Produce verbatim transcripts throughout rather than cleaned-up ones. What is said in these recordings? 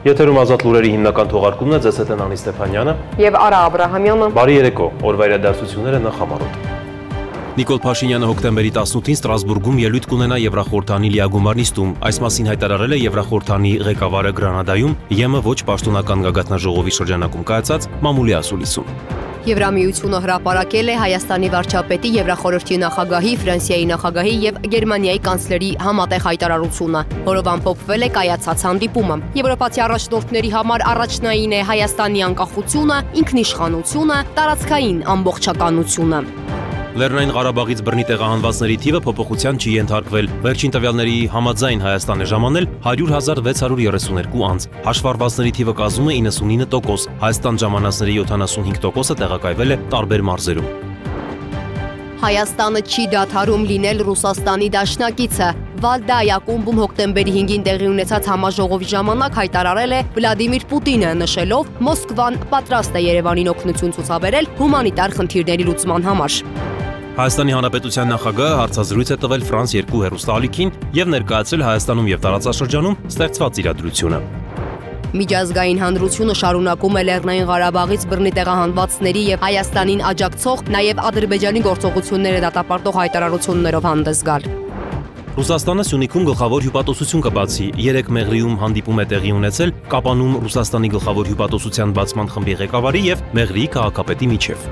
Եթերում ազատ լուրերի հիմնական թողարկումն է, ձեզ հետ են Անի Ստեփանյանը և Արա Աբրահամյանը։ Բարի երեկո, օրվա իրադարձությունները նախամարոտ։ Նիկոլ Փաշինյանը հոկտեմբերի տասնութին Ստրասբուրգում ելույթ կունենա Եվրախորհրդանի լիագումար նիստում, այս մասին հայտարարել է Եվրախորհրդանի ղեկավարը Գրանադայում ԵՄ ոչ պաշտոնական գագաթնաժողովի շրջանակում կայացած մամուլի ասուլիսում։ Եվրամիությունը հրապարակել է Հայաստանի վարչապետի, Եվրախորհրդի նախագահի, Ֆրանսիայի նախագահի և Գերմանիայի կանցլերի համատեղ հայտարարությունը, որով ամփոփվել է կայացած հանդիպումը։ Եվրոպացի առաջնորդների համար առաջնային է Հայաստանի անկախությունը, ինքնիշխանությունը, տարածքային ամբողջականությունը։ Լեռնային Ղարաբաղից բռնի տեղահանվածների թիվը փոփոխության չի ենթարկվել։ Վերջին տվյալների համաձայն Հայաստան է ժամանել հարյուր հազար վեց հարյուր երեսուն երկու անձ։ Հաշվառվածների թիվը կազմում է իննսունինը տոկոս։ Հայաստան ժամանածների յոթանասունհինգ տոկոսը տեղակայվել է տարբեր մարզերում։ Հայաստանը չի դադարում լինել Ռուսաստանի դաշնակիցը։ Վալդայ ակումբում հոկտեմբերի հինգին տեղի ունեցած համաժողովի ժամանակ հայտարարել է Վլադիմիր Պուտինը, նշելով Մոսկվան պատրաստ է Երևանին օգնություն ցուցաբերել հումանիտար խնդիրների լուծման համար։ Հայաստանի Հանրապետության նախագահը հարցազրույց է տվել Ֆրանս երկու հեռուստաալիքին և ներկայացրել Հայաստանում և տարածաշրջանում ստեղծված իրադրությունը։ Միջազգային հանրությունը շարունակում է Լեռնային Ղարաբաղից բռնի տեղահանվածների և Հայաստանին աջակցող, նաև Ադրբեջանի գործողությունները դատապարտող հայտարարություններով հանդես գալ։ Ռուսաստանը Սյունիքում գլխավոր հյուպատոսություն կբացի։ Երեկ Մեղրիում հանդիպում է տեղի ունեցել Կապանում Ռուսաստանի գլխավոր հյուպատոսության բացման խմբի ղեկավարի և Մեղրիի քաղաքապետի միջև։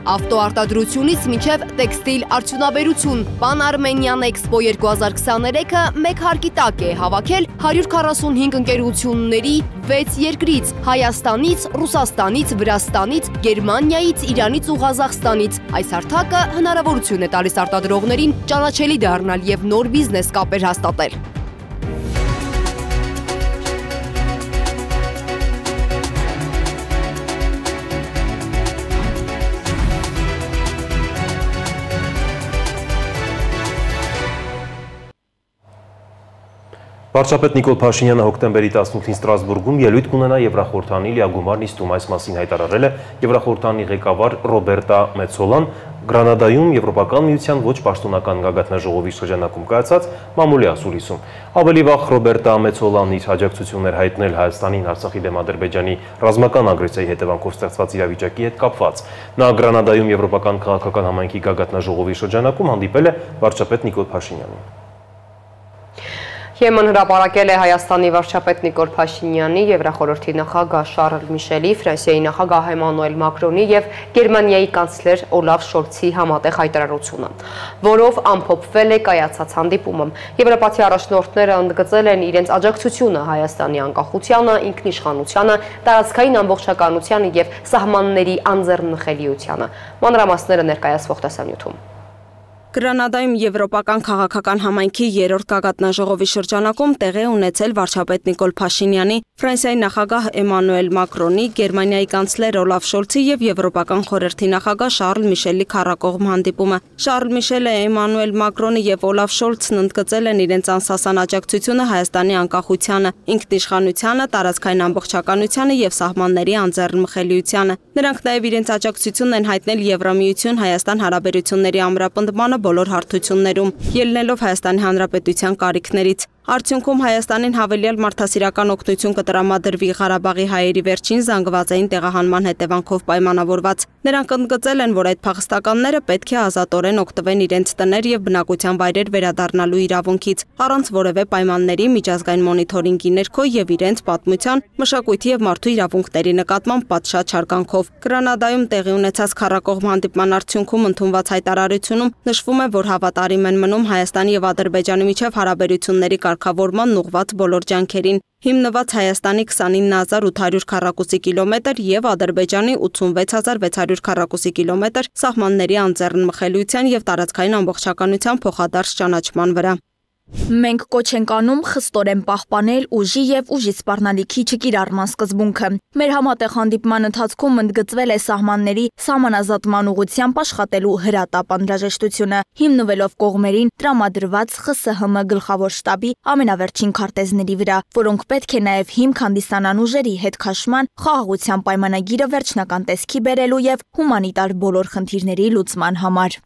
Ավտոարտադրությունից մինչև տեքստիլ արդյունաբերություն, Պան Արմենիան Էքսպո երկու հազար քսաներեքը մեկ հարկի տակ է հավաքել հարյուր քառասունհինգ ընկերությունների վեց երկրից՝ Հայաստանից, Ռուսաստանից, Վրաստանից, Գերմանիայից, Իրանից ու Ղազախստանից։ Այս հարթակը հնարավորություն է տալիս արտադրողներին ճանաչելի դառնալ և նոր բիզնես կապեր հաստատել։ Վարչապետ Նիկոլ Փաշինյանը հոկտեմբերի տասնութին Ստրասբուրգում ելույթ կունենա Եվրախորհրդանի լիագումար նիստում, այս մասին հայտարարել է Եվրախորհրդանի ղեկավար Ռոբերտա Մեցոլան Գրանադայում Եվրոպական միության ոչ պաշտոնական գագաթնաժողովի շրջանակում կայացած մամուլի ասուլիսում։ Ավելի վաղ Ռոբերտա Մեցոլանն իր աջակցությունն էր հայտնել Հայաստանին Արցախի դեմ Ադրբեջանի ռազմական ագրեսիայի հետևանքով ստեղծված իրավիճակի հետ կապված։ Նա Գրանադայում Եվրոպական քաղաքական համայնքի գագաթնաժողովի շրջանակում հանդիպել է վարչապետ Նիկոլ Փաշինյանին։ ԵՄ-ն հրապարակել է Հայաստանի վարչապետ Նիկոլ Փաշինյանի, Եվրախորհրդի նախագահ Շարլ Միշելի, Ֆրանսիայի նախագահ Էմանուել Մակրոնի և Գերմանիայի կանցլեր Օլաֆ Շոլցի համատեղ հայտարարությունը, որով ամփոփվել է կայացած հանդիպումը։ Եվրոպացի առաջնորդները ընդգծել են իրենց աջակցությունը Հայաստանի անկախությանը, ինքնիշխանությանը, տարածքային ամբողջականությանը և սահմանների անձեռնխելիությանը։ Մանրամասները ներկայացվող տեսանյութում։ Գրանադայում Եվրոպական քաղաքական համայնքի երրորդ գագաթնաժողովի շրջանակում տեղի ունեցել վարչապետ Նիկոլ Փաշինյանի, Ֆրանսիայի նախագահ Էմանուել Մակրոնի, Գերմանիայի կանցլեր Օլաֆ Շոլցի և Եվրոպական խորհրդի նախագահ Շարլ Միշելի քառակողմ հանդիպումը։ Շարլ Միշելը, Էմանուել Մակրոնը և Օլաֆ Շոլցն ընդգծել են իրենց անսասան աջակցությունը Հայաստանի անկախությանը, ինքնիշխանությանը, տարածքային ամբողջականությանը և սահմանների անձեռնմխելիությանը։ Նրանք նաև իրենց աջակցությունն են հայտնել Եվրամիություն Հայաստան հարաբերությունների ամրապնդմանը բոլոր հարթություններում, ելնելով Հայաստանի Հանրապետության կարիքներից։ Արդյունքում Հայաստանին հավելյալ մարդասիրական օգնություն կտրամադրվի Ղարաբաղի հայերի վերջին զանգվածային տեղահանման հետևանքով պայմանավորված։ Նրանք ընդգծել են, որ այդ փախստականները պետք է ազատորեն օգտվեն իրենց տներ և բնակության վայրեր վերադառնալու իրավունքից, առանց որևէ պայմանների, միջազգային մոնիթորինգի ներքո և իրենց պատմության, մշակույթի և մարդու իրավունքների նկատմամբ պատշաճ հարգանքով։ Գրանադայում տեղի ունեցած քառակողմ հանդիպման արդյունքում ընդունված հայտարարությունում նշվում է, որ հավատարիմ են մնում Հայաստանի և Ադրբեջանի միջև հարաբերությունների կարգավորման ուղղված բոլոր ջանքերին, հիմնված Հայաստանի քսանինը հազար ութ հարյուր քառակուսի կիլոմետր և Ադրբեջանի ութսունվեց հազար վեց հարյուր քառակուսի կիլոմետր սահմանների անձեռնմխելիության և տարածքային ամբողջականության փոխադարձ ճանաչման վրա։ Մենք կոչ ենք անում խստորեն պահպանել ուժի եւ ուժի սպառնալիքի չկիրառման սկզբունքը։ Մեր համատեղ հանդիպման ընթացքում ընդգծվել է սահմանների սահմանազատման ուղղությամբ աշխատելու հրատապ անհրաժեշտությունը, հիմնվելով կողմերին տրամադրված Խ С Հ Մ գլխավոր շտաբի ամենավերջին քարտեզների վրա, որոնք պետք է նաեւ հիմք հանդիսանան ուժերի հետ քաշման, խաղաղության պայմանագիրը վերջնական տեսքի բերելու եւ հումանիտար բոլոր խնդիրների լուծման համար։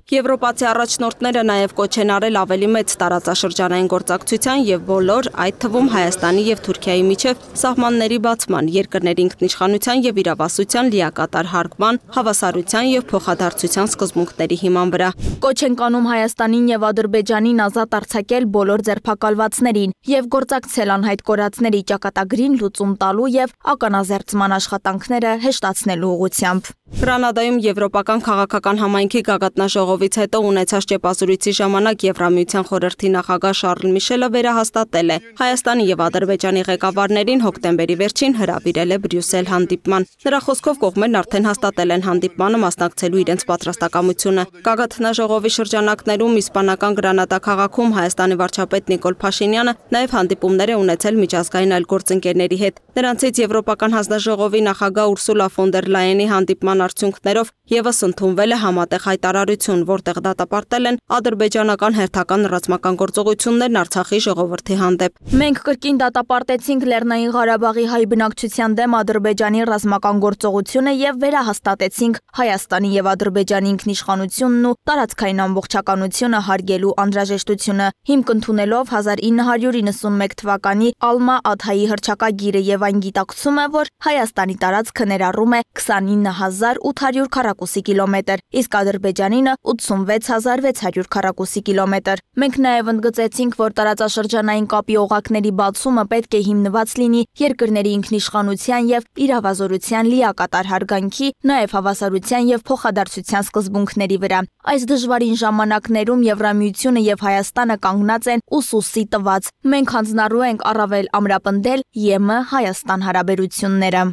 Եվրոպացի առաջնորդները նաև կոչ են արել ավելի մեծ տարածաշրջանային գործակցության եւ բոլոր, այդ թվում Հայաստանի եւ Թուրքիայի միջև սահմանների բացման, երկրների ինքնիշխանության եւ իրավասության լիակատար հարգման, հավասարության եւ փոխադարձության սկզբունքների հիման վրա։ Կոչ են անում Հայաստանին եւ Ադրբեջանին ազատ արձակել բոլոր ձերբակալվածներին եւ գործակցել անհայտ կորածների ճակատագրին լուծում տալու եւ ականազերծման աշխատանքները հեշտացնելու ուղղությամբ։ Գրանադայում Եվրոպական քաղաքական համայնքի գագաթնաժողովից հետո ունեցած ճեպազրույցի ժամանակ Եվրամիության խորհրդի նախագահ Շարլ Միշելը վերահաստատել է Հայաստանի եւ Ադրբեջանի ղեկավարներին հոկտեմբերի վերջին հրավիրել է Բրյուսել հանդիպման։ Նրա խոսքով կողմերն արդեն հաստատել են հանդիպմանը մասնակցելու իրենց պատրաստակամությունը։ Գագաթնաժողովի շրջանակներում իսպանական Գրանադա քաղաքում Հայաստանի վարչապետ Նիկոլ Փաշինյանը նաև հանդիպումներ է ունեցել միջազգային այլ գործընկերների հետ։ Նրանցից Եվրոպական հանձնաժողովի նախագահ Ուրսուլա ֆոն դեր Լայենի հանդիպման արդյունքներով եւս ընդունվել է համատեղ հայտարարություն, որտեղ դատապարտել են ադրբեջանական հերթական ռազմական գործողություններն Արցախի ժողովրդի հանդեպ։ Մենք կրկին դատապարտեցինք Լեռնային Ղարաբաղի հայ բնակչության դեմ Ադրբեջանի ռազմական գործողությունը եւ վերահաստատեցինք Հայաստանի եւ Ադրբեջանի ինքնիշխանությունն ու տարածքային ամբողջականությունը հարգելու անհրաժեշտությունը, հիմք ընդունելով հազար ինը հարյուր իննսունմեկ թվականի Ալմա-Աթայի հռչակագիրը եւ այն գիտակցումը, որ Հայաստանի տարածքը ներառում է քսանինը հազար ութ հարյուր քառակուսի կիլոմետր, իսկ Ադրբեջանինը ութսունվեց հազար վեց հարյուր քառակուսի կիլոմետր։ Մենք նաև ընդգծեցինք, որ տարածաշրջանային կապի օղակների բացումը պետք է հիմնված լինի երկրների ինքնիշխանության եւ իրավազորության լիակատար հարգանքի, նաև հավասարության եւ փոխադարձության սկզբունքների վրա։ Այս դժվարին ժամանակներում Եվրամիությունը եւ Հայաստանը կանգնած են ուսուսի տված։ Մենք հանձնառու ենք առավել ամրապնդել Ե M Հայաստան հարաբերությունները։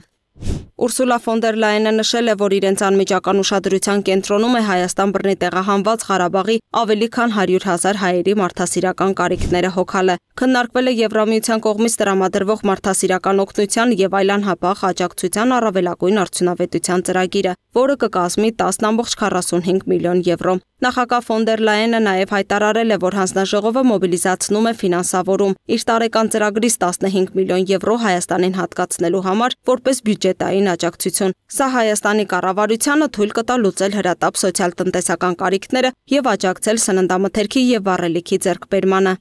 Ուրսուլա ֆոն դեր Լայենը նշել է, որ իրենց անմիջական ուշադրության կենտրոնում է Հայաստան բռնի տեղահանված Ղարաբաղի ավելի քան հարյուր հազար հայերի մարդասիրական կարիքները հոգալը։ Քննարկվել է Եվրամիության կողմից տրամադրվող մարդասիրական օգնության եւ այլ անհապաղ աջակցության առավելագույն արդյունավետության ծրագիրը, որը կկազմի տասը կόμma քառասունհինգ միլիոն եվրո։ Նախագահ ֆոն դեր Լայենը նաև հայտարարել է, որ հանձնաժողովը մոբիլիզացնում է ֆինանսավորում իր տարեկան ծրագրից տասնհինգ միլիոն եվրո Հայաստանին հատկացնելու համար որպես բյուջետային աջակցություն։ Սա Հայաստանի կառավարությանը թույլ կտա լուծել հրատապ սոցիալ-տնտեսական կարիքները եւ աջակցել սննդամթերքի եւ վառելիքի ձեռքբերմանը։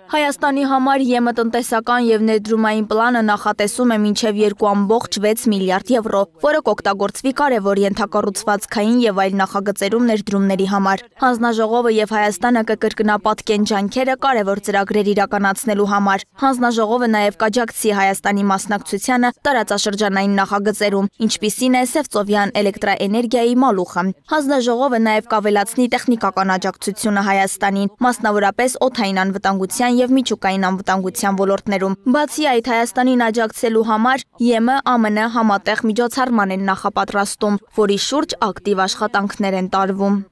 Հայաստանի համար Ե M տնտեսական եւ ներդրումային պլանը նախատեսում է մինչեւ երկու կόμma վեց միլիարդ եվրո, որը կօգտագործվի կարևոր ենթակառուցվածքային եւ այլ նախագծերում ներդրումների համար։ Հանձնաժողովը եւ Հայաստանը կկրկնապատկեն ջանքերը կարևոր ծրագրեր իրականացնելու համար։ Հանձնաժողովը նաեւ կաջակցի Հայաստանի մասնակցությանը տարածաշրջանային նախագծերում, ինչպիսին է Սևծովյան էլեկտրաէներգիայի մալուխը։ Հանձնաժողովը նաեւ կավելացնի տեխնիկական աջակցությունը Հայաստանին, մասնավորապես օդային անվտանգության եւ միջուկային անվտանգության ոլորտներում։ Բացի այդ, Հայաստանին աջակցելու համար Ե M A M N համատեղ միջոցառման են նախապատրաստում, որի շուրջ ակտիվ աշխատանքներ են տարվում։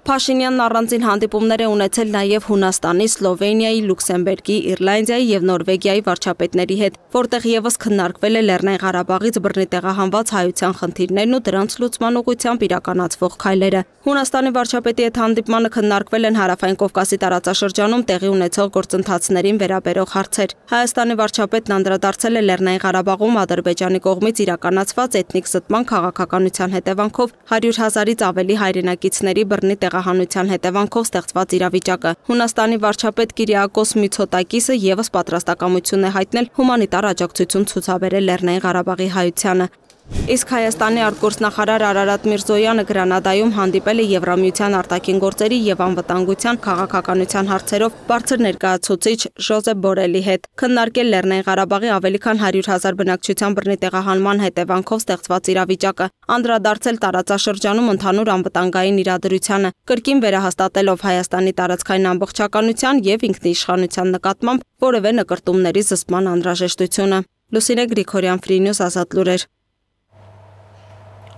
Փաշինյանն առանձին հանդիպումներ է ունեցել նաև Հունաստանի, Սլովենիայի, Լյուքսեմբուրգի, Իռլանդիայի եւ Նորվեգիայի վարչապետների հետ, որտեղ եւս քննարկվել է Լեռնային Ղարաբաղից բռնի տեղահանված հայության խնդիրներն ու դրանց լուծման ուղղությամբ իրականացվող քայլերը։ Հունաստանի վարչապետի հետ հանդիպմանը քննարկվել են Հարավային Կովկասի տարածաշրջանում տեղի ունեցող գործընթացներին վերաբերող հարցեր։ Հայաստանի վարչապետն անդրադարձել է Լեռնային Ղարաբաղում Ադրբեջանի կողմից իրականացված էթնիկ զտման քաղաքականության հետևանքով հարյուր հազարից ավելի հայրենակիցների բռնի տեղահանության հետևանքով ստեղծված իրավիճակը։ Հունաստանի վարչապետ Կիրիակոս Միցոտակիսը եւս պատրաստակամություն է հայտնել հումանիտար աջակցություն ցուցաբերել Լեռնային Ղարաբաղի հայությանը։ Իսկ Հայաստանի արտգործնախարար Արարատ Միրզոյանը Գրանադայում հանդիպել է Եվրամիության արտաքին գործերի եւ անվտանգության քաղաքականության հարցերով բարձր ներկայացուցիչ Ժոզեփ Բորելի հետ, քննարկել Լեռնային Ղարաբաղի ավելի քան հարյուր հազար բնակչության բռնի տեղահանման հետևանքով ստեղծված իրավիճակը, անդրադարձել տարածաշրջանում ընդհանուր անվտանգային իրադրությանը, կրկին վերահաստատելով Հայաստանի տարածքային ամբողջականության եւ ինքնիշխանության նկատմամբ որևէ նկրտումների զսպման անհրաժեշտությունը։ Լուսինե Գրիգորյան, Free News, Ազատ լուրեր։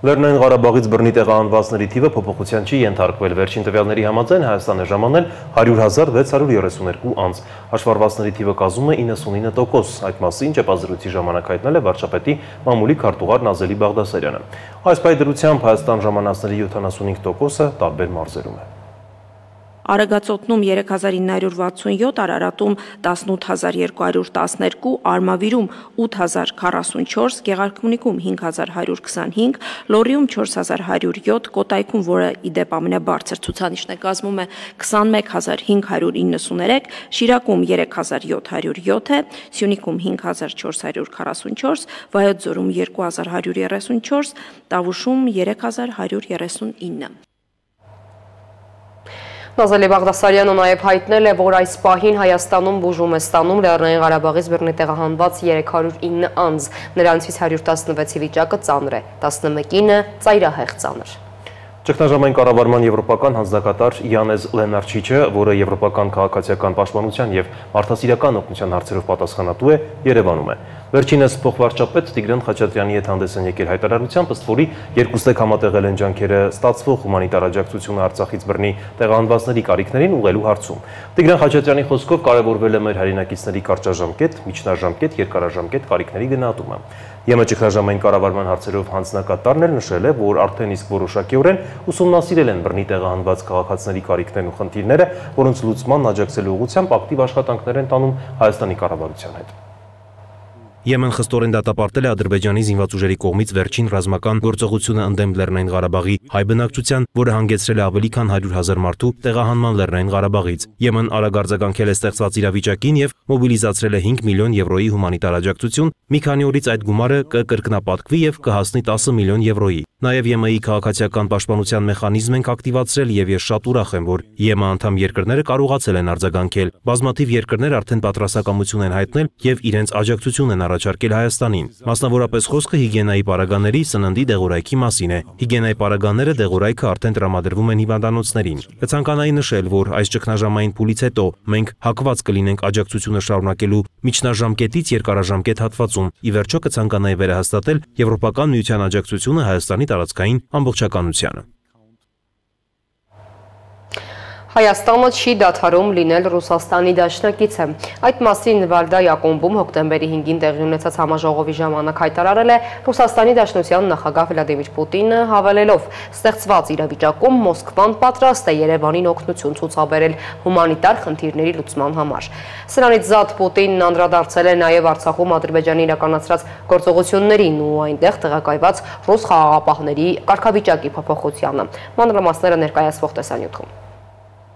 Լեռնային Ղարաբաղից բռնի տեղահանվածների թիվը փոփոխության չի ենթարկվել։ Վերջին տվյալների համաձայն Հայաստան է ժամանել հարյուր հազար վեց հարյուր երեսուն երկու անձ։ Հաշվառվածների թիվը կազմում է իննսունինը տոկոս։ Այդ մասին ճեպազրույցի ժամանակ հայտնել է վարչապետի մամուլի քարտուղար Նազելի Բաղդասարյանը։ Այս պայդրությամբ Հայաստան ժամանածների յոթանասունհինգ տոկոսը տարբեր մարզերում է։ Արագածոտնում երեք հազար ինը հարյուր վաթսունյոթ, Արարատում տասնութ հազար երկու հարյուր տասներկու, Արմավիրում ութ հազար քառասունչորս, Գեղարքունիքում հինգ հազար հարյուր քսանհինգ, Լոռիում չորս հազար հարյուր յոթ, Կոտայքում, որը ի դեպ ամենաբարձր ցուցանիշն է, կազմում է քսանմեկ հազար հինգ հարյուր իննսուներեք, Շիրակում երեք հազար յոթ հարյուր յոթ է, Սյունիքում հինգ հազար չորս հարյուր քառասունչորս, Վայոց ձորում երկու հազար հարյուր երեսունչորս, Տավուշում երեք հազար հարյուր երեսունինը։ Նազելի Բաղդասարյանը նաև հայտնել է, որ այս պահին Հայաստանում բուժում է ստանում Լեռնային Ղարաբաղից բռնի տեղահանված երեք հարյուր ինը անձ, նրանցից հարյուր տասնվեցի վիճակը ծանր է, տասնմեկինը ծայրահեղ ծանր։ Ճգնաժամային կառավարման եվրոպական հանձնակատար Յանեզ Լենարչիչը, որը եվրոպական քաղաքացիական պաշտպանության եւ մարդասիրական օգնության հարցերով պատասխանատու է, Երևանում է։ Վերջինս փոխվարչապետ Տիգրան Խաչատրյանի հետ հանդես են եկել հայտարարությամբ, ըստ որի երկուստեք համատեղել են ջանքերը ստացվող հումանիտար աջակցությունը Արցախից բռնի տեղահանվածների կարիքներին ուղղելու հարցում։ Տիգրան Խաչատրյանի խոսքով կարևորվել է մեր հայրենակիցների կարճաժամկետ, միջնաժամկետ, երկարաժամկետ կարիքների գնահատումը։ ԵՄ ճգնաժամային կառավարման հարցերով հանձնակատարն էլ նշել է, որ արդեն իսկ որոշակիորեն ուսումնասիրել են բռնի տեղահանված քաղաքացիների կարիքներն ու խնդիրները, որոնց լուծման աջակցելու ուղղությամբ ակտիվ աշխատանքներ են տանում Հայաստանի կառավարության հետ։ Եմեն խստորեն դատապարտել է Ադրբեջանի զինված ուժերի կողմից վերջին ռազմական գործողությունը ընդդեմ Լեռնային Ղարաբաղի հայ բնակչության, որը հանգեցրել է ավելի քան հարյուր հազար մարդու տեղահանման Լեռնային Ղարաբաղից։ Եմեն արագ արձագանքել է ստեղծված իրավիճակին եւ մոբիլիզացրել է հինգ միլիոն եվրոյի հումանիտար աջակցություն, մի քանի օրից այդ գումարը կկրկնապատկվի եւ կհասնի տասը միլիոն եվրոյի։ Նաև ԵՄ-ի քաղաքացիական պաշտպանության մեխանիզմ ենք ակտիվացրել եւ ես շատ ուրախ եմ, որ ԵՄ անդամ երկրները կարողացել են արձագանքել։ Բազմաթիվ երկրներ արդեն պատրաստակամություն են հայտնել եւ իրենց աջակցություն են առաջարկել Հայաստանին։ Մասնավորապես խոսքը հիգիենայի պարագաների, սննդի դեղորայքի մասին է։ Հիգիենայի պարագաները դեղորայքը արդեն տրամադրվում են հիվանդանոցներին։ Կցանկանայի նշել, որ այս ճգնաժամային փուլից հետո մենք հակված կլինենք աջակցությունը շարունակելու միջնաժամկետից երկարաժամկետ հատվածում։ Ի վերջո կցանկանայի վերահաստատել Եվրոպական միության աջակցությունը Հայաստանի տարածքային ամբողջականությանը։ Հայաստանը չի դադարում լինել Ռուսաստանի դաշնակիցը։ Այդ մասին Վալդայի ակումբում հոկտեմբերի հինգին տեղի ունեցած համաժողովի ժամանակ հայտարարել է Ռուսաստանի Դաշնության նախագահ Վլադիմիր Պուտինը, հավելելով. «Ստեղծված իրավիճակում Մոսկվան պատրաստ է Երևանին օգնություն ցուցաբերել հումանիտար խնդիրների լուծման համար»։ Սրանից զատ Պուտինն անդրադարձել է նաև Արցախում Ադրբեջանի իրականացրած գործողություններին ու այնտեղ տեղակայված ռուս խաղաղապահների կարգավիճակի փոփոխությանը։ Մանրամասները ներկայացվող տեսանյութում։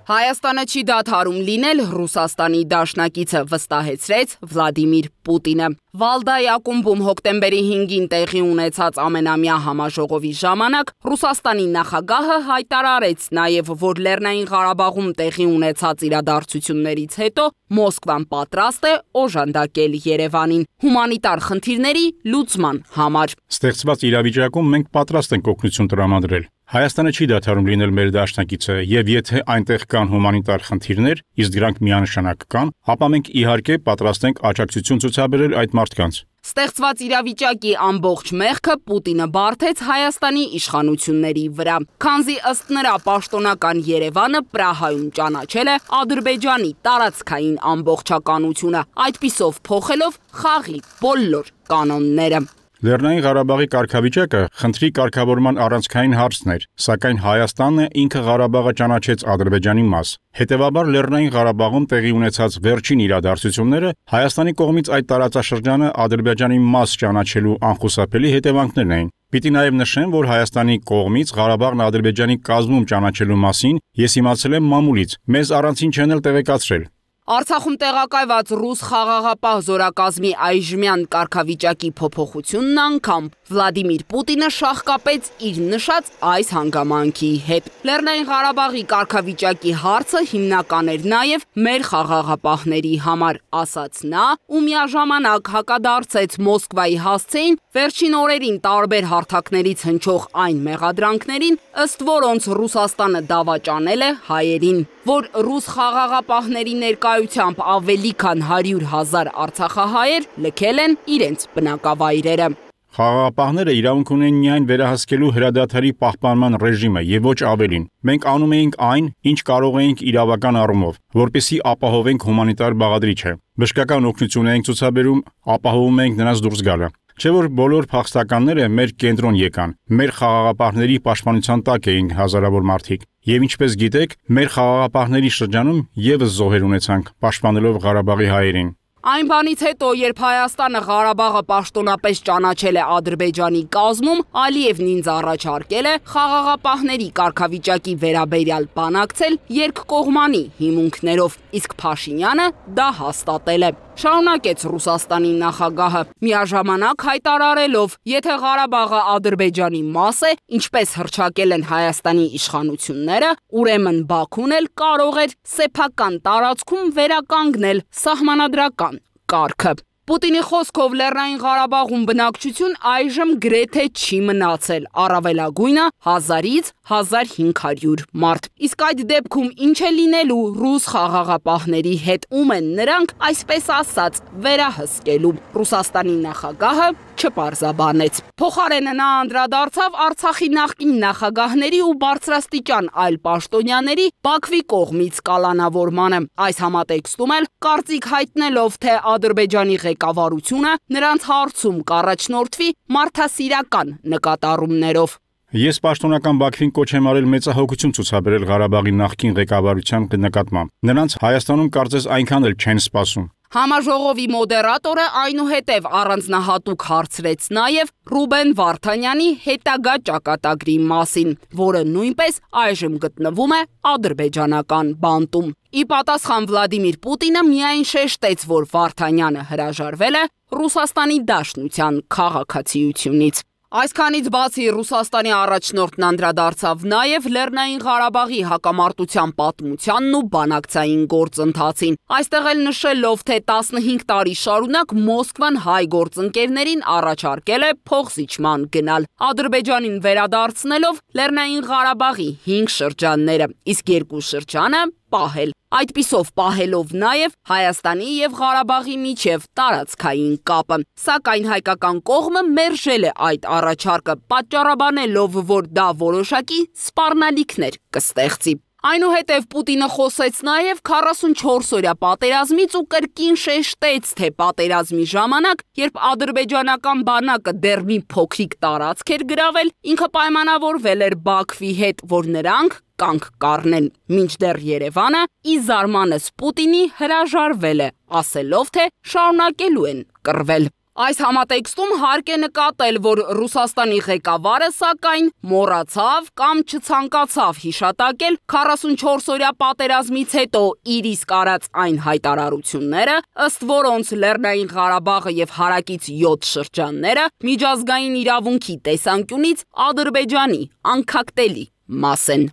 Հայաստանը չի դադարում լինել Ռուսաստանի դաշնակիցը, վստահեցրեց Վլադիմիր Պուտինը։ Վալդայի ակումբում հոկտեմբերի հինգին տեղի ունեցած ամենամյա համաժողովի ժամանակ Ռուսաստանի նախագահը հայտարարեց նաև, որ Լեռնային Ղարաբաղում տեղի ունեցած իրադարձություններից հետո Մոսկվան պատրաստ է օժանդակել Երևանին հումանիտար խնդիրների լուծման համար։ Ստեղծված իրավիճակում մենք պատրաստ ենք օգնություն տրամադրել։ Հայաստանը չի դադարում լինել մեր դաշնակիցը, եւ եթե այնտեղ կան հումանիտար խնդիրներ, իսկ դրանք միանշանակ կան, ապա մենք իհարկե պատրաստ ենք աջակցություն ցուցաբերել այդ մարդկանց։ Ստեղծված իրավիճակի ամբողջ մեղքը Պուտինը բարթեց Հայաստանի իշխանությունների վրա, քանզի ըստ նրա պաշտոնական Երևանը Պրահայում ճանաչել է Ադրբեջանի տարածքային ամբողջականությունը, այդպիսով փոխելով խաղի բոլոր կանոնները։ Լեռնային Ղարաբաղի կարգավիճակը խնդրի կարգավորման առանցքային հարցն էր, սակայն Հայաստանն է ինքը Ղարաբաղը ճանաչեց Ադրբեջանի մաս։ Հետևաբար Լեռնային Ղարաբաղում տեղի ունեցած վերջին իրադարձությունները Հայաստանի կողմից այդ տարածաշրջանը Ադրբեջանի մաս ճանաչելու անխուսափելի հետևանքներն էին։ Պիտի նաև նշեմ, որ Հայաստանի կողմից Ղարաբաղն Ադրբեջանի կազմում ճանաչելու մասին ես իմացել եմ մամուլից, մեզ առանցին չեն էլ տեղեկացրել։ Արցախում տեղակայված ռուս խաղաղապահ զորակազմի այժմյան կարգավիճակի փոփոխությունն անգամ Վլադիմիր Պուտինը շահկապեց իր նշած այս հանգամանքի հետ։ Լեռնային Ղարաբաղի կարգավիճակի հարցը հիմնական էր նաև մեր խաղաղապահների համար, ասաց նա, ու միաժամանակ հակադարձեց Մոսկվայի հասցեին վերջին օրերին տարբեր հարթակներից հնչող այն մեղադրանքներին, ըստ որոնց Ռուսաստանը դավաճանել է հայերին, որ ռուս խաղաղապահների ներկայությամբ ավելի քան հարյուր հազար արցախահայեր լքել են իրենց բնակավայրերը։ Խաղաղապահները իրավունք ունեն միայն վերահսկելու հրադադարի պահպանման ռեժիմը եւ ոչ ավելին։ Մենք անում էինք այն, ինչ կարող էինք իրավական առումով, որպեսզի ապահովենք հումանիտար բաղադրիչը։ Բժշկական օգնություն էինք ցուցաբերում, ապահովում էինք նրանց դուրս գալը։ Չէ՞ որ բոլոր փախստականները մեր կենտրոն եկան։ Մեր խաղաղապահների պաշտպանության տակ էին հազարավոր մարդիկ։ Եվ ինչպես գիտեք, մեր խաղաղապահների շրջանում եւս զոհեր ունեցանք, պաշտպանելով Ղարաբաղի հայերին։ Այն բանից հետո, երբ Հայաստանը Ղարաբաղը պաշտոնապես ճանաչել է Ադրբեջանի կազմում, Ալիևն ինձ առաջարկել է խաղաղապահների կարգավիճակի վերաբերյալ բանակցել երկկողմանի հիմունքներով, իսկ Փաշինյանը դա հաստատել է։ Շարունակեց Ռուսաստանի նախագահը, միաժամանակ հայտարարելով, եթե Ղարաբաղը Ադրբեջանի մաս է, ինչպես հռչակել են Հայաստանի իշխանությունները, ուրեմն Բաքուն էլ կարող էր սեփական տարածքում վերականգնել սահմանադրական կարգը։ Պուտինի խոսքով Լեռնային Ղարաբաղում բնակչություն այժմ գրեթե չի մնացել, առավելագույնը հազարից հազար հինգ հարյուր մարդ։ Իսկ այդ դեպքում ինչ է լինելու ռուս խաղաղապահների հետ, ում են նրանք, այսպես ասած, վերահսկելու։ Ռուսաստանի նախագահը չպարզաբանեց։ Փոխարենը նա անդրադարձավ Արցախի նախկին նախագահների ու բարձրաստիճան այլ պաշտոնյաների Բաքվի կողմից կալանավորմանը։ Այս համատեքստում էլ կարծիք հայտնելով, թե Ադրբեջանի ղեկավարությունը նրանց հարցում կառաջնորդվի մարդասիրական նկատառումներով։ Ես պաշտոնական Բաքվին կոչ եմ արել մեծահոգություն ցուցաբերել Ղարաբաղի նախկին ղեկավարության նկատմամբ։ Նրանց Հայաստանում կարծես այնքան էլ չեն սպասում։ Համաժողովի մոդերատորը այնուհետև առանձնահատուկ հարցրեց նաև Ռուբեն Վարդանյանի հետագա ճակատագրի մասին, որը նույնպես այժմ գտնվում է ադրբեջանական բանտում։ Ի պատասխան Վլադիմիր Պուտինը միայն շեշտեց, որ Վարդանյանը հրաժարվել է Ռուսաստանի Դաշնության քաղաքացիությունից։ Այսքանից բացի Ռուսաստանի առաջնորդն անդրադարձավ նաև Լեռնային Ղարաբաղի հակամարտության պատմությանն ու բանակցային գործընթացին, այստեղ էլ նշելով, թե տասնհինգ տարի շարունակ Մոսկվան հայ գործընկերներին առաջարկել է փոխզիջման գնալ, Ադրբեջանին վերադարձնելով Լեռնային Ղարաբաղի հինգ շրջանները, իսկ երկու շրջանը պահել, այդպիսով պահելով նաև Հայաստանի եւ Ղարաբաղի միջև տարածքային կապը, սակայն հայկական կողմը մերժել է այդ առաջարկը, պատճառաբանելով, որ դա որոշակի սպառնալիքներ կստեղծի։ Այնուհետև Պուտինը խոսեց նաև քառասունչորս օրյա պատերազմից ու կրկին շեշտեց, թե պատերազմի ժամանակ, երբ ադրբեջանական բանակը դեռ մի փոքրիկ տարածք էր գրավել, ինքը պայմանավորվել էր Բաքվի հետ, որ նրանք կանգ կառնեն, մինչդեռ Երևանը ի զարմանս Պուտինի հրաժարվել է, ասելով, թե շարունակելու են կռվել։ Այս համատեքստում հարկ է նկատել, որ Ռուսաստանի ղեկավարը սակայն մոռացավ կամ չցանկացավ հիշատակել քառասունչորս օրյա պատերազմից հետո իր իսկ արած այն հայտարարությունները, ըստ որոնց Լեռնային Ղարաբաղը եւ հարակից յոթ շրջանները միջազգային իրավունքի տեսանկյունից Ադրբեջանի անկախտելի մաս են։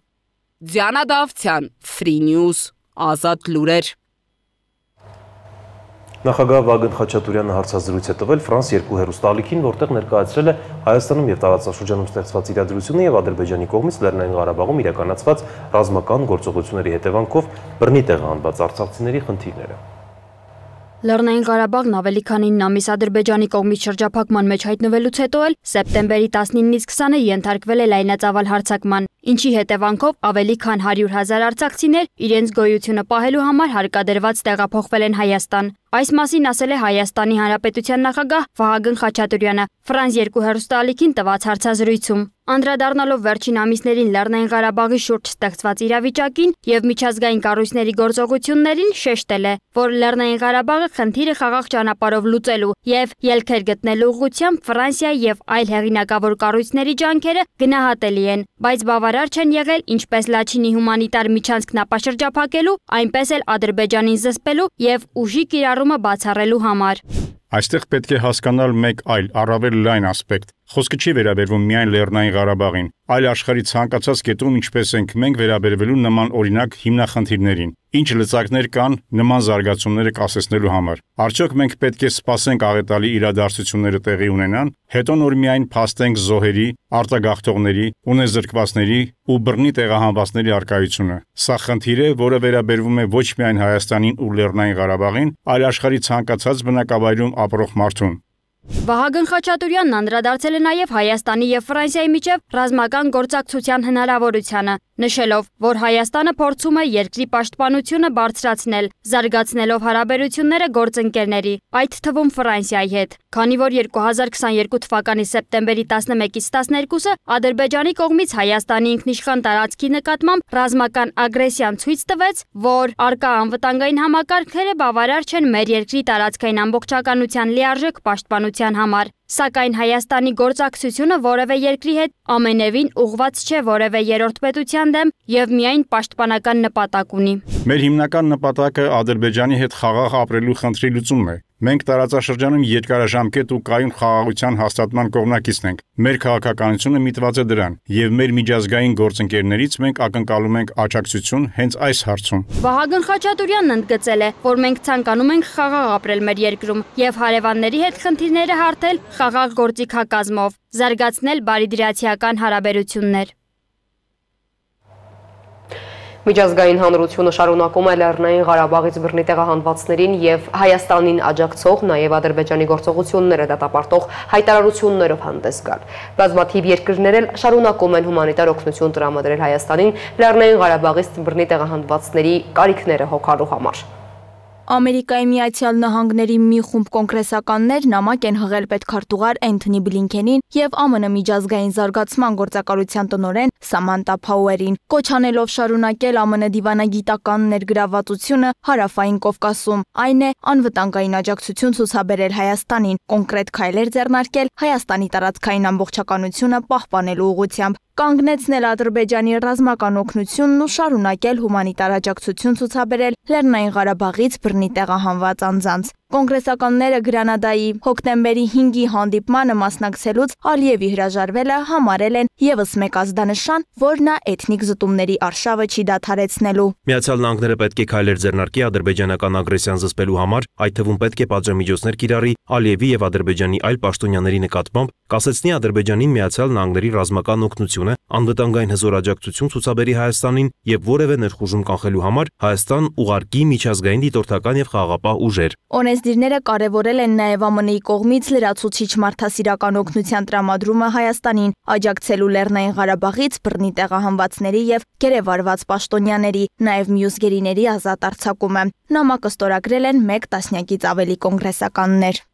Դիանա Դավթյան, Free News, Ազատ լուրեր։ Նախագահ Վագն Խաչատուրյանը հարցազրույց է տվել Ֆրանս երկու հեռուստաալիքին, որտեղ ներկայացրել է Հայաստանում եւ տարածաշրջանում ստեղծված իրադրությունը եւ Ադրբեջանի կողմից Լեռնային Ղարաբաղում իրականացված ռազմական գործողությունների հետևանքով բռնի տեղահանված արցախցիների խնդիրները։ Լեռնային Ղարաբաղն ավելի քան ինը ամիս Ադրբեջանի կողմից շրջափակման մեջ հայտնվելուց հետո էլ սեպտեմբերի տասնինից քսանը ենթարկվել է լայնածավալ հարձակման, ինչի հետևանքով ավելի քան հարյուր հազար արցախցիներ իրենց գոյությունը պահելու համար հարկադրված տեղափոխվել են Հայաստան։ Այս մասին ասել է Հայաստանի Հանրապետության նախագահ Վահագն Խաչատուրյանը Ֆրանս երկու հեռուստաալիքին տված հարցազրույցում։ Անդրադառնալով վերջին ամիսներին Լեռնային Ղարաբաղի շուրջ ստեղծված իրավիճակին եւ միջազգային կառույցների գործողություններին, շեշտել է, որ Լեռնային Ղարաբաղը խնդիրը խաղաղ ճանապարհով լուծելու եւ ելքեր գտնելու ուղղությամբ Ֆրանսիա եւ այլ հեղինակավոր կառույցների ջանքերը գնահատելի են, բայց բավարար չեն եղել ինչպես Լաչինի հումանիտար միջանցքն ապաշրջափակելու, այնպես էլ Ադրբեջանին զսպելու եւ ուժի կիրառումը բացառելու համար։ Այստեղ պետք է հասկանալ մեկ այլ առավել լայն ասպեկտ։ Խոսքը չի վերաբերվում միայն Լեռնային Ղարաբաղին, այլ աշխարհի ցանկացած կետում ինչպես ենք մենք վերաբերվելու նման օրինակ հիմնախնդիրներին։ Ինչ լծակներ կան նման զարգացումները կասեցնելու համար։ Արդյոք մենք պետք է սպասենք աղետալի իրադարձությունները տեղի ունենան, հետո նոր միայն փաստենք զոհերի, արտագաղթողների, ունեզրկվածների ու բռնի տեղահանվածների առկայությունը։ Սա խնդիր է, որը վերաբերվում է ոչ միայն Հայաստանին ու Լեռնային Ղարաբաղին, այլ աշխարհի ցանկացած բնակավայրում ապրող մարդուն։ Վահագն Խաչատուրյանն անդրադարձել է նաև Հայաստանի եւ Ֆրանսիայի միջև ռազմական գործակցության հնարավորությանը, նշելով, որ Հայաստանը փորձում է երկրի պաշտպանությունը բարձրացնել, զարգացնելով հարաբերությունները գործընկերների, այդ թվում Ֆրանսիայի հետ, քանի որ երկու հազար քսաներկու թվականի սեպտեմբերի տասնմեկից տասներկուսը Ադրբեջանի կողմից Հայաստանի ինքնիշխան տարածքի նկատմամբ ռազմական ագրեսիան ցույց տվեց, որ առկա անվտանգային համակարգերը բավարար չեն մեր երկրի տարածքային ամբողջականության լիարժեք պաշտպանության համար, սակայն Հայաստանի գործակցությունը որևէ երկրի հետ ամենևին ուղղված չէ որևէ երրորդ պետության դեմ եւ միայն պաշտպանական նպատակ ունի։ Մեր հիմնական նպատակը Ադրբեջանի հետ խաղաղ ապրելու խնդրի լուծումն է։ Մենք տարածաշրջանում երկարաժամկետ ու կայուն խաղաղության հաստատման կողմնակիցն ենք։ Մեր քաղաքականությունը միտված է դրան, եւ մեր միջազգային գործընկերներից մենք ակնկալում ենք աջակցություն հենց այս հարցում։ Վահագն Խաչատուրյանն ընդգծել է, որ մենք ցանկանում ենք խաղաղ ապրել մեր երկրում եւ հարևանների հետ խնդիրները հարթել խաղաղ գործիքակազմով, զարգացնել բարիդրացիական հարաբերություններ։ Միջազգային հանրությունը շարունակում է Լեռնային Ղարաբաղից բռնի տեղահանվածներին եւ Հայաստանին աջակցող, նաեւ Ադրբեջանի գործողությունները դատապարտող հայտարարություններով հանդես գալ։ Բազմաթիվ երկրներ էլ շարունակում են հումանիտար օգնություն տրամադրել Հայաստանին Լեռնային Ղարաբաղից բռնի տեղահանվածների կարիքները հոգալու համար։ Ամերիկայի Միացյալ Նահանգների մի խումբ կոնգրեսականներ նամակ են հղել պետքարտուղար Էնթոնի Բլինքենին եւ ԱՄՆ միջազգային զարգացման գործակալության տնօրեն Սամանտա Փաուերին, կոչ անելով շարունակել ԱՄՆ դիվանագիտական ներգրավվածությունը Հարավային Կովկասում, այն է անվտանգային աջակցություն ցուցաբերել Հայաստանին, կոնկրետ քայլեր ձեռնարկել Հայաստանի տարածքային ամբողջականությունը պահպանելու ուղղությամբ, կանգնեցնել Ադրբեջանի ռազմական օգնությունն ու շարունակել հումանիտար աջակցություն ցուցաբերել Լեռնային Ղարաբաղից բռնի տեղահանված անձանց։ Կոնգրեսականները Գրանադայի հոկտեմբերի հինգի հանդիպմանը մասնակցելուց Ալիևի հրաժարվելը համարել են եւս մեկ ազդանշան, որ նա էթնիկ զտումների արշավը չի դադարեցնելու։ Միացյալ Նահանգները պետք է քայլեր ձեռնարկի ադրբեջանական ագրեսիան զսպելու համար, այդ թվում պետք է պատժամիջոցներ կիրառի Ալիևի եւ Ադրբեջանի այլ պաշտոնյաների նկատմամբ, կասեցնի Ադրբեջանին Միացյալ Նահանգների ռազմական օգնությունը, անվտանգային հզոր աջակցություն ցուցաբերի Հայաստանին եւ որևէ ներխուժում կանխելու համար Հայաստան ուղարկի միջազգային դիտորդական եւ խաղաղապահ ուժեր։ Օրենսդիրները կարևորել են նաև ԱՄՆ-ի կողմից լրացուցիչ մարդասիրական օգնության տրամադրումը Հայաստանին, աջակցելու Լեռնային Ղարաբաղից բռնի տեղահանվածների եւ գերեվարված պաշտոնյաների, նաև մյուս գերիների ազատ արձակումը։ Նամակը ստորագրել են մեկ տասնյակից ավելի կոնգրեսականներ։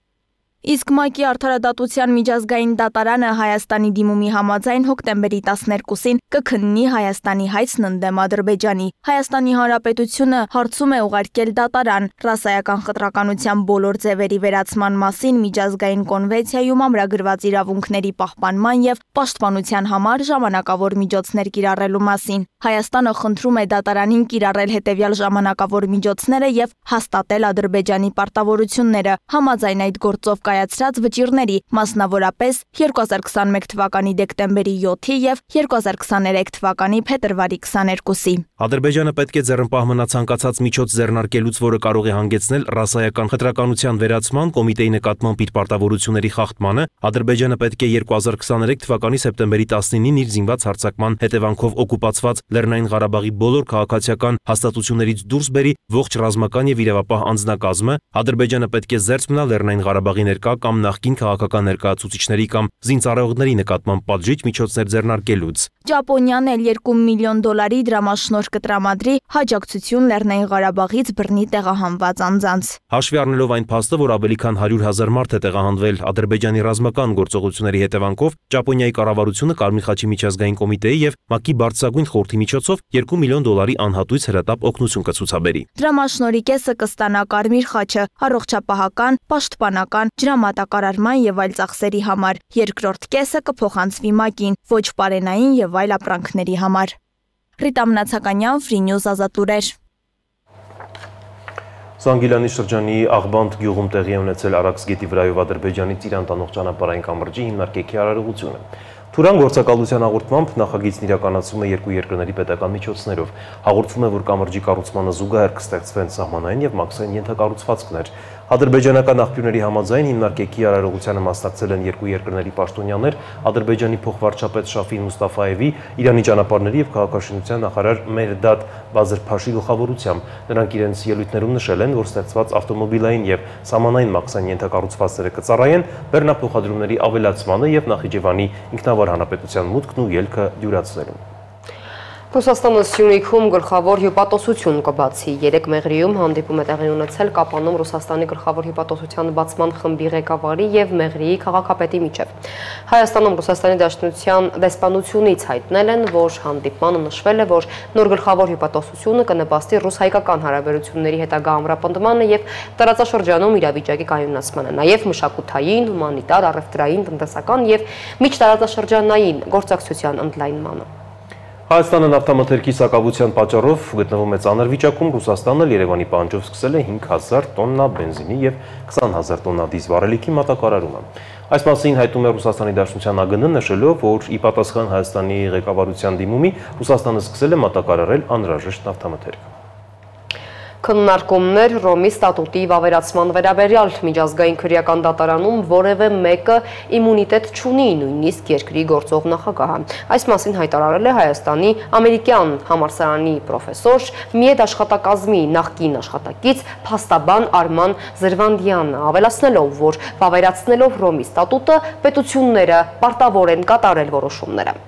Իսկ ՄԱԿ-ի արդարադատության միջազգային դատարանը Հայաստանի դիմումի համաձայն հոկտեմբերի տասներկուսին կքննի Հայաստանի հայցն ընդդեմ Ադրբեջանի։ Հայաստանի Հանրապետությունը հարցում է ուղարկել դատարան ռասայական խտրականության բոլոր ձևերի վերացման մասին միջազգային կոնվենցիայում ամրագրված իրավունքների պահպանման եւ պաշտպանության համար ժամանակավոր միջոցներ կիրառելու մասին։ Հայաստանը խնդրում է դատարանին կիրառել հետևյալ ժամանակավոր միջոցները եւ հաստատել Ադրբեջանի պարտավորությունները համաձայն այդ գործով կայացրած վճիռների, մասնավորապես երկու հազար քսաներկու թվականի դեկտեմբերի յոթի եւ երկու հազար քսաներեք թվականի փետրվարի քսաներկուսի։ Ադրբեջանը պետք է ձեռնպահ մնա ցանկացած միջոց ձեռնարկելուց, որը կարող է հանգեցնել ռասայական խտրականության վերացման, կոմիտեի նկատմամբ իր պարտավորությունների խախտմանը։ Ադրբեջանը պետք է երկու հազար քսաներեք թվականի սեպտեմբերի տասնինին իր զինված հարձակման հետևանքով օկուպացված Լեռնային Ղարաբաղի բոլոր քաղաքացիական հաստատություններից դուրս բերի ողջ ռազմական եւ իրավապահ անձնակազմը։ Ադրբեջանը պետք է զերծ մնա Լեռնային Ղարաբաղի ներկա կամ նախկին քաղաքական ներկայացուցիչների կամ զինծառայողների նկատմամբ պատժիչ միջոցներ ձեռնարկելուց։ Ճապոնիան էլ երկու միլիոն դոլարի դրամաշնորհ կտրամադրի հաջակցություն Լեռնային Ղարաբաղից բռնի տեղահանված անձանց։ Հաշվի առնելով այն փաստը, որ ավելի քան հարյուր հազար մարդ է տեղահանվել Ադրբեջանի ռազմական գործողությունների հետևանքով, Ճապոնիայի կառավարությունը Կարմիր խաչի միջազգային կոմիտեի եւ ՄԱԿ-ի բարձրագույն խորհրդի միջոցով երկու միլիոն դոլարի անհատույց հրատապ օգնություն կցուցաբերի։ Դրամաշնորհի կեսը կստանա Կարմիր խաչը, առողջապահական, պաշտպանական, ջրամատակարարման եւ այլ ծախսերի համար, երկրորդ կեսը կփոխանցվի ՄԱԿ-ին, ոչ պարենային եւ այլ ապրանքների համար։ Ռիտա Մնացականյան, Free News ազատուրեր։ Զանգիլանի շրջանի Աղբանդ գյուղում տեղի է ունեցել Արաքս գետի վրայով Ադրբեջանից Իրան տանող ճանապարհային կամրջի հիմնարկեքի արարողությունը։ Թուրան գործակալության հաղորդմամբ նախագիծն իրականացվում է երկու երկրների պետական միջոցներով։ Հաղորդվում է, որ կամրջի կառուցմանը զուգահեռ կստեղծվեն սահմանային եւ մաքսային ենթակառուցվածքներ։ Ադրբեջանական աղբյուրների համաձայն հիմնարկեքի արարողությանը մասնակցել են երկու երկրների պաշտոնյաներ, Ադրբեջանի փոխվարչապետ Շաֆին Մուստաֆայևի, Իրանի ճանապարհների եւ քաղաքաշինության նախարար Մեհրդադ Բազրփաշի գլխավորությամբ։ Նրանք իրենց ելույթներում նշել են, որ ստեղծված ավտոմոբիլային եւ սահմանային մաքսային ենթակառուցվածքները կծառայեն բեռնափոխադրումների ավելացմանը եւ Նախիջևանի ինքնավար հանրապետության մուտքն ու ելքը դյուրացնելուն։ Ռուսաստանը Սյունիքում գլխավոր հյուպատոսություն կբացի։ Երեք Մեղրիում հանդիպում է տեղի ունեցել Կապանում Ռուսաստանի գլխավոր հյուպատոսության բացման խմբի ղեկավարի եւ Մեղրիի քաղաքապետի միջև։ Հայաստանում Ռուսաստանի Դաշնության դեսպանությունից հայտնել են, որ հանդիպմանը նշվել է, որ նոր գլխավոր հյուպատոսությունը կնպաստի ռուս-հայկական հարաբերությունների հետագա ամրապնդմանը եւ տարածաշրջանում իրավիճակի կայունացմանը, նաեւ մշակութային, հումանիտար, առևտրային, տնտեսական եւ միջտարածաշրջանային գործակցության ընդլայնմանը։ Հայաստանը նավթամթերքի սակավության պատճառով գտնվում է ծանր վիճակում, Ռուսաստանը Երևանի պահանջով սկսել է հինգ հազար տոննա բենզինի եւ քսան հազար տոննա դիզլ վառելիքի մատակարարումը։ Այս մասին հայտնում է Ռուսաստանի Դաշնության ԱԳՆ-ը, նշելով, որ ի պատասխան Հայաստանի ղեկավարության դիմումի Ռուսաստանը սկսել է մատակարարել անհրաժեշտ նավթամթերք։ Քննարկումներ Ռոմի ստատուտի վավերացման վերաբերյալ միջազգային քրեական դատարանում որևէ մեկը իմունիտետ չունի, նույնիսկ երկրի գործող նախագահը։ Այս մասին հայտարարել է Հայաստանի ամերիկյան համալսարանի պրոֆեսոր, Միեդ աշխատակազմի նախկին աշխատակից փաստաբան Արման Զրվանդյանը, ավելացնելով, որ վավերացնելով Ռոմի ստատուտը պետությունները պարտավոր են կատարել որոշումները։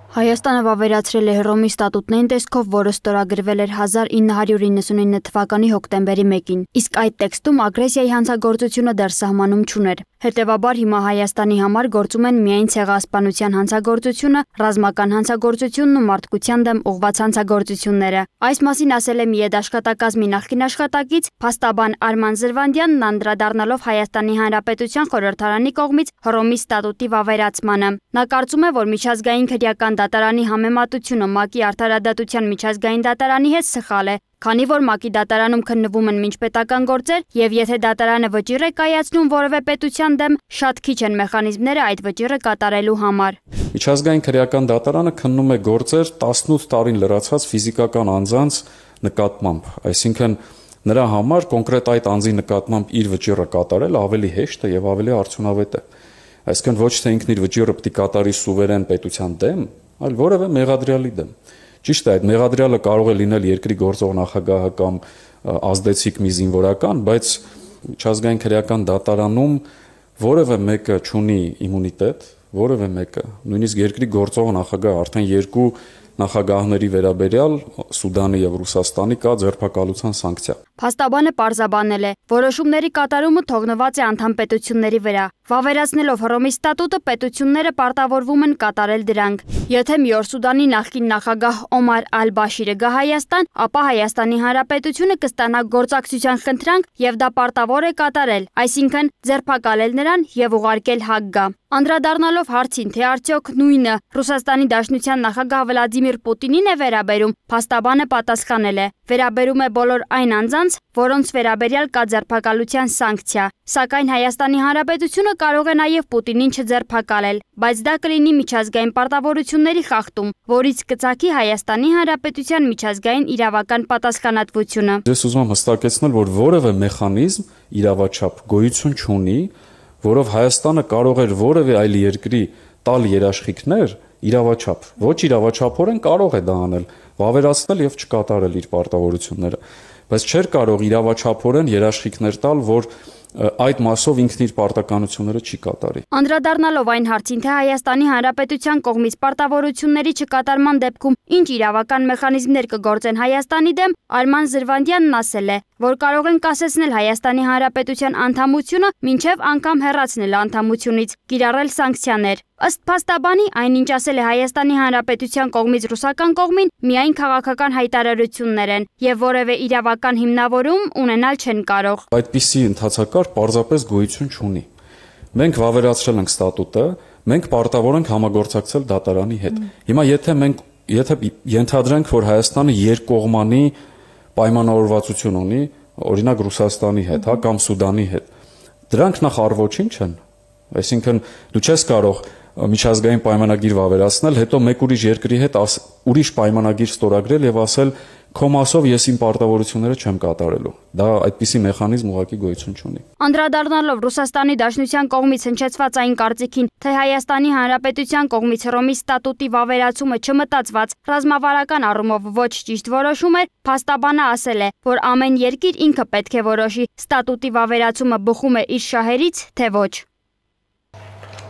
Հայաստանը վավերացրել է Հռոմի ստատուտն այն տեսքով, որը ստորագրվել էր հազար ինը հարյուր իննսունինը թվականի հոկտեմբերի մեկին, իսկ այդ տեքստում ագրեսիայի հանցագործությունը դեռ սահմանում չուներ։ Հետևաբար հիմա Հայաստանի համար գործում են միայն ցեղասպանության հանցագործությունը, ռազմական հանցագործությունն ու մարդկության դեմ ուղղված հանցագործությունները։ Այս մասին ասել է Միեդ աշխատակազմի նախկին աշխատակից փաստաբան Արման Զրվանդյանն, անդրադառնալով Հայաստանի Հանրապետության խորհրդարանի կողմից Հռոմի ստատուտի վավերացմանը։ Նա կարծում է, որ միջազգային քրեական դատարանի համեմատությունը ՄԱԿ-ի արդարադատության միջազգային դատարանի հետ սխալ է, քանի որ ՄԱԿ-ի դատարանում քննվում են միջպետական գործեր, եւ եթե դատարանը վճիռ է կայացնում որևէ պետության դեմ, շատ քիչ են մեխանիզմները այդ վճիռը կատարելու համար։ Միջազգային քրեական դատարանը քննում է գործեր տասնութ տարին լրացած ֆիզիկական անձանց նկատմամբ, այսինքն նրա համար կոնկրետ այդ անձի նկատմամբ իր վճիռը կատարել ավելի հեշտ է եւ ավելի արդյունավետ է։ Այսինքն ոչ թե ինքն իր վճիռը պետք է կատարի սուվերեն պետության դեմ, այլ որևէ մեղադրյալի դեմ։ Ճիշտ է, այդ մեղադրյալը կարող է լինել երկրի գործող նախագահը կամ ազդեցիկ մի զինվորական, բայց միջազգային քրեական դատարանում որևէ մեկը չունի իմունիտետ, որևէ մեկը, նույնիսկ երկրի գործող նախագահը արդեն երկու նախագահների վերաբերյալ Սուդանի եւ Ռուսաստանի կա ձերբակալության սանկցիա։ Փաստաբանը պարզաբանել է, որոշումների կատարումը թողնված է անդամ պետությունների վրա։ Վավերացնելով Հռոմի ստատուտը պետությունները պարտավորվում են կատարել դրանք։ Եթե մի օր Սուդանի նախկին նախագահ Օմար Ալ-Բաշիրը գա Հայաստան, ապա Հայաստանի Հանրապետությունը կստանա գործակցության խնդրանք եւ դա պարտավոր է կատարել, այսինքն ձերբակալել նրան եւ ուղարկել ՀԱԳ-գա։ Անդրադառնալով հարցին, թե արդյոք նույնը Ռուսաստանի Դաշնության նախագահ Վլադիմիր Պուտինին է վերաբերում, փաստաբանը պատասխանել է. վերաբերում է բոլոր այն անձանց, որոնց վերաբերյալ կա ձերբակալության սանկցիա, սակայն Հայաստանի Հանրապետությունը կարող է նաև Պուտինին չձերբակալել, բայց դա կլինի միջազգային պարտավորությունների խախտում, որից կծագի Հայաստանի Հանրապետության միջազգային իրավական պատասխանատվությունը։ Ես ուզում եմ հստակեցնել, որ որևէ մեխանիզմ իրավաչափ գոյություն չունի, որով Հայաստանը կարող էր որևէ այլ երկրի տալ երաշխիքներ իրավաչափ, ոչ իրավաչափորեն կարող է դա անել, վավերացնել եւ չկատարել իր պարտավորությունները, բայց չէր կարող իրավաչափորեն երաշխիքներ տալ, որ այդ մասով ինքն իր պարտականությունները չի կատարի։ Անդրադառնալով այն հարցին, թե Հայաստանի Հանրապետության կողմից պարտավորությունների չկատարման դեպքում ինչ իրավական մեխանիզմներ կգործեն Հայաստանի դեմ, Արման Զրվանդյանն ասել է, որ կարող են կասեցնել Հայաստանի Հանրապետության անդամությունը, մինչև անգամ հեռացնել անդամությունից, կիրառել սանկցիաներ։ Ըստ փաստաբանի, այնինչ ասել է Հայաստանի Հանրապետության կողմից ռուսական կողմին, միայն քաղաքական հայտարարություններ են եւ որևէ իրավական հիմնավորում ունենալ չեն կարող։ Այդպիսի ընթացակարգ պարզապես գոյություն չունի։ Մենք վավերացրել ենք ստատուտը, մենք պարտավոր ենք համագործակցել դատարանի հետ։ Հիմա եթե մենք եթե ենթադրենք, որ Հայաստանը երկկողմանի պայմանավորվածություն ունի, օրինակ Ռուսաստանի հետ, հա, կամ Սուդանի հետ, դրանք նախ առ-ոչինչ են։ Այսինքն դու չես կարող միջազգային պայմանագիր վավերացնել, հետո մեկ ուրիշ երկրի հետ ուրիշ պայմանագիր ստորագրել եւ ասել քո մասով ես իմ պարտավորությունները չեմ կատարելու։ Դա այդպիսի մեխանիզմ ուղղակի գոյություն չունի։ Անդրադառնալով Ռուսաստանի Դաշնության կողմից հնչեցված այն կարծիքին, թե Հայաստանի Հանրապետության կողմից Հռոմի ստատուտի վավերացումը չմտածված ռազմավարական առումով ոչ ճիշտ որոշում էր, փաստաբանը ասել է, որ ամեն երկիր ինքը պետք է որոշի ստատուտի վավերացումը բխում է իր շահերից, թե ոչ։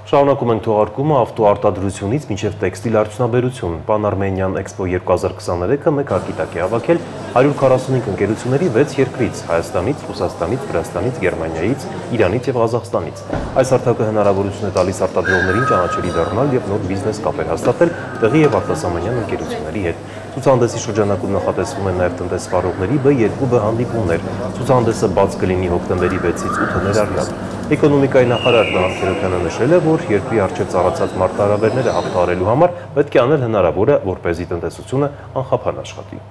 Շարունակում ենք թողարկումը ավտոարտադրությունից մինչև տեքստիլ արդյունաբերություն։ Pan-Armenian Expo երկու հազար քսաներեքը մեկ ակիտակ է հավաքել հարյուր քառասունհինգ ընկերությունների վեց երկրից՝ Հայաստանից, Ռուսաստանից, Վրաստանից, Գերմանիայից, Իրանից և Ղազախստանից։ Այս հարթակը հնարավորություն է տալիս արտադրողներին ճանաչելի դառնալ և նոր բիզնես կապեր հաստատել տեղի և արտասահմանյան ընկերությունների հետ։ Ցուցահանդեսի շրջանակում նախատեսվում են նաև տնտեսվարողների B երկու B հանդիպումներ։ Ցուցահանդեսը բաց կլինի հոկտեմբերի վեցից ութը ներառյալ։ Էկոնոմիկայի նախարար Նահան Քերոբյանը նշել է, որ երկրի առջև ծառացած մարտահրավերները հաղթահարելու համար պետք է անել հնարավորը, որպեսզի տնտեսությունը անխափան աշխատի։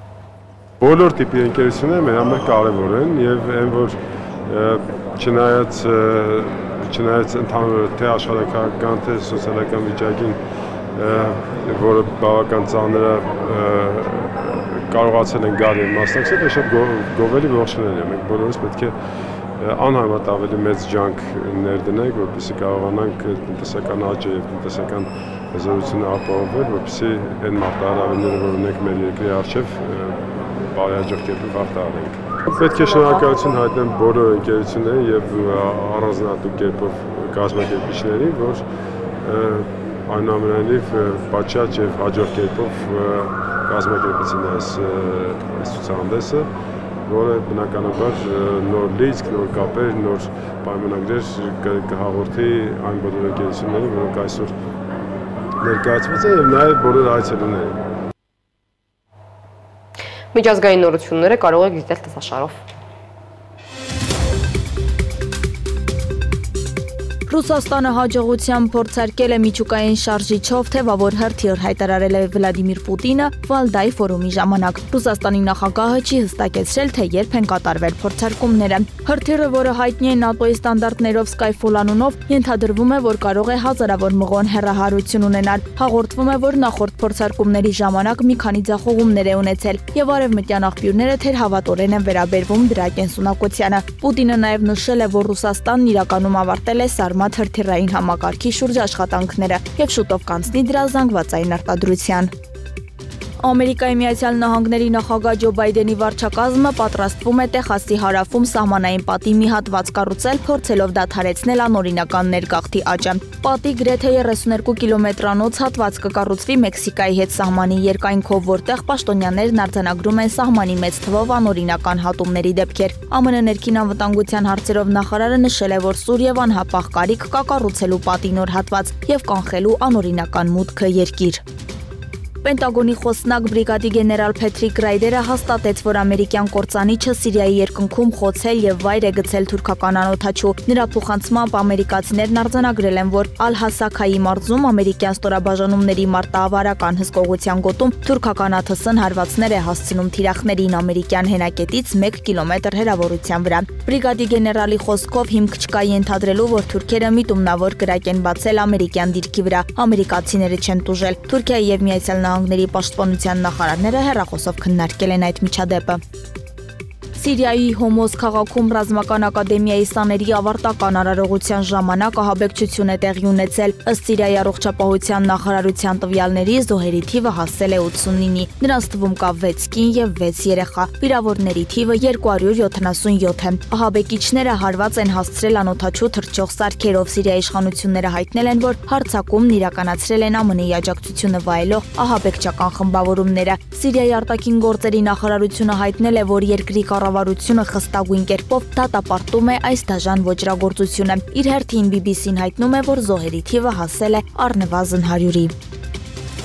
Բոլոր տիպի ընկերությունները մեր համար կարևոր են եւ այն որ չնայած չնայած ընդհանուր թե աշխարհական թե սոցիալական վիճակին, որը բավական ծանր է, կարողացել են գալ եւ մասնակցել, դա շատ գովելի ողջունել է։ Մենք բոլորս պետք է անհամեմատ ավելի մեծ ջանք ներդնենք, որպեսզի կարողանանք տնտեսական աճը եւ տնտեսական հզորությունը ապահովել, որպեսզի այն մարտահրավերները, որ ունենք մեր երկրի առջև, բարեհաջող կերպով հաղթահարենք։ Պետք է շնորհակալություն հայտնեմ բոլոր ընկերություններին եւ առանձնահատուկ կերպով կազմակերպիչներին, որ այնուամենայնիվ պատշաճ եւ հաջող կերպով կազմակերպեցին այս ցուցահանդեսը, որը բնականաբար նոր լիցք, նոր կապեր, նոր պայմանագրեր կհաղորդի այն բոլոր ընկերություններին, որոնք այսօր ներկայացված են եւ նաեւ բոլոր այցելուներին։ Միջազգային նորությունները կարող եք դիտել տեսաշարով։ Ռուսաստանը հաջողությամբ փորձարկել է միջուկային շարժիչով թևավոր հրթիռ, հայտարարել է Վլադիմիր Պուտինը Վալդայի ֆորումի ժամանակ։ Ռուսաստանի նախագահը չի հստակեցրել, թե երբ են կատարվել փորձարկումները։ Հրթիռը, որը հայտնի է ՆԱՏՕ-ի ստանդարտներով Skyfall անունով, ենթադրվում է, որ կարող է հազարավոր մղոն հեռահարություն ունենալ։ Հաղորդվում է, որ նախորդ փորձարկումների ժամանակ մի քանի ձախողումներ է ունեցել, եւ արևմտյան աղբյուրները թերհավատորեն են վերաբերվում դրա կենսունակությանը։ Պուտինը նաեւ նշել է, որ Ռուսաստանն իրականում ավարտել է Սարմատ հրթիռային համակարգի շուրջ աշխատանքները եւ շուտով կանցնի դրա զանգվածային արտադրության։ Ամերիկայի Միացյալ Նահանգների նախագահ Ջո Բայդենի վարչակազմը պատրաստվում է Տեխասի հարավում սահմանային պատի մի հատված կառուցել, փորձելով դադարեցնել անօրինական ներգաղթի աճը։ Պատի գրեթե երեսուներկու կիլոմետրանոց հատված կկառուցվի Մեքսիկայի հետ սահմանի երկայնքով, որտեղ պաշտոնյաներն արձանագրում են սահմանի մեծ թվով անօրինական հատումների դեպքեր։ ԱՄՆ ներքին անվտանգության հարցերով նախարարը նշել է, որ սուր եւ անհապաղ կարիք կա կառուցելու պատի նոր հատված եւ կանխելու անօրինական մուտքը երկիր։ Պենտագոնի խոսնակ բրիգադի գեներալ Փեթրիկ Ռայդերը հաստատեց, որ ամերիկյան կործանիչը Սիրիայի երկնքում խոցել եւ վայր է գցել թուրքական անօդաչու։ Նրա փոխանցմամբ ամերիկացիներն արձանագրել են, որ Ալ-Հասաքայի մարզում ամերիկյան ստորաբաժանումների մարտահրավերական հսկողության գոտում թուրքական ԱԹՍ-ն հարվածներ է հասցնում թիրախներին ամերիկյան հենակետից մեկ կիլոմետր հեռավորության վրա։ Բրիգադի գեներալի խոսքով հիմք չկա ենթադրելու, որ թուրքերը միտումնավոր կրակ են բացել ամերիկյան դիրքի վրա։ Ամերիկացիները չեն տուժել։ Թուրքիայի եւ Միացյալ Նահանգների պաշտպանության նախարարները հեռախոսով քննարկել են այդ միջադեպը։ Սիրիայի Հոմոս քաղաքում ռազմական ակադեմիայի սաների ավարտական արարողության ժամանակ ահաբեկչություն է տեղի ունեցել։ Ըստ Սիրիայի առողջապահության նախարարության տվյալների զոհերի թիվը հասել է ութսունինի։ Նրանց թվում կա վեց կին եւ վեց երեխա։ Վիրավորների թիվը երկու հարյուր յոթանասունյոթ է։ Ահաբեկիչները հարված են հասցրել անօդաչու թռչող սարքերով։ Սիրիայի իշխանությունները հայտնել են, որ հարձակումն իրականացրել են ԱՄՆ-ի աջակցությունը վայելող ահաբեկչական խմբավորումները։ Սիրիայի արտաքին գործերի նախարարությունը հայտնել է, որ երկրի կառավարությունը խստագույն կերպով դատապարտում է այս դաժան ոճրագործությունը։ Իր հերթին բի բի սին հայտնում է, որ զոհերի թիվը հասել է առնվազն հարյուրի։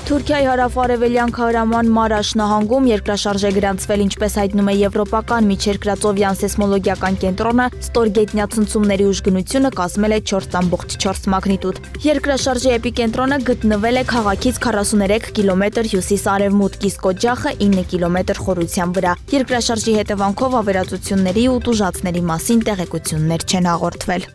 Թուրքիայի հարավ-արևելյան քահրաման Մարաշ նահանգում երկրաշարժ է գրանցվել, ինչպես հայտնում է Եվրոպական միջերկրածովյան սեյսմոլոգիական կենտրոնը, ստորգետնյա ցնցումների ուժգնությունը կազմել է չորս ծամբողջ չորս մագնիտուդ։ Երկրաշարժի էպիկենտրոնը գտնվել է քաղաքից քառասուներեք կիլոմետր հյուսիս-արևմուտք, իսկ օջախը ինը կիլոմետր խորության վրա։ Երկրաշարժի հետևանքով ավերածությունների ու տուժածների մասին տեղեկություններ չեն հաղորդվել։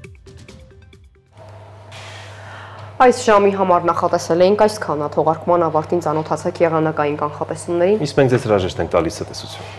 Այս ժամի համար նախատեսել էինք այսքանը, թողարկման ավարտին ծանոթացեք եղանակային կանխատեսումներին։ Իսկ մենք ձեզ հրաժեշտ ենք տալիս ցտեսություն։